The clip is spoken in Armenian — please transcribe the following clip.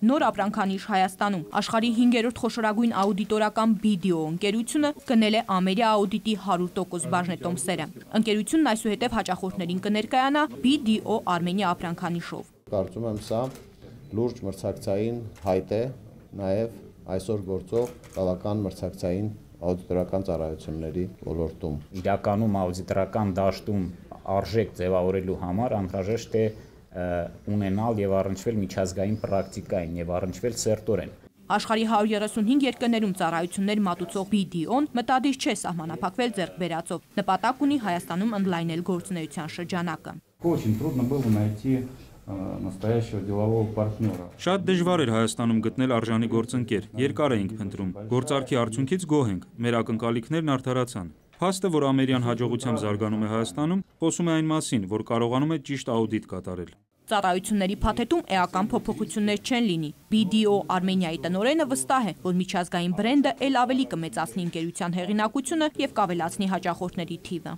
Նոր ապրանքանիշ Հայաստանում աշխարհի 5-րդ խոշորագույն աուդիտորական BDO ընկերությունը գնել է Ամերիա աուդիտի 100% բաժնետոմսերը։ Ընկերությունն այսուհետև հաճախորդներին կներկայանա BDO Armenia ապրանքանիշով։ Կարծում եմ սա լուրջ մրցակցային հայտ է նաև այսօր գործող բավական մրցակցային աուդիտորական ծառայությունների ոլորտում։ Իրականում աուդիտորական դաշտում արժեք ձևավորելու համար անհրաժեշտ է ունենալ եւ առնչվել միջազգային պրակտիկային եւ առնչվել սերտորեն։ Աշխարհի 135 երկրներում ծառայություններ մատուցող BDO-ն մտադիր չէ սահմանափակվել ձեռքբերածով։ Նպատակ ունի Հայաստանում ընդլայնել գործունեության շրջանակը։ Настоящего делового партнера. Շատ դժվար էր Հայաստանում գտնել արժանի գործընկեր, երկար էինք փնտրում, գործարքի արդյունքից գոհ ենք, մեր ակնկալիքներն արդարացան։ Փաստը, որ Ամերիան հաջողությամբ զարգանում է Հայաստանում, խոսում է այն մասին, որ կարողանում է ճիշտ աուդիտ կատարել։ Ծառայությունների փաթեթում էական փոփոխություններ չեն լինի։ BDO Armenia-ի տնօրենը վստահ է, որ միջազգային բրենդը ել ավելի կմեծացնի ընկերության հեղինակությունը եւ կավելացնի հաճախորդների թիվը։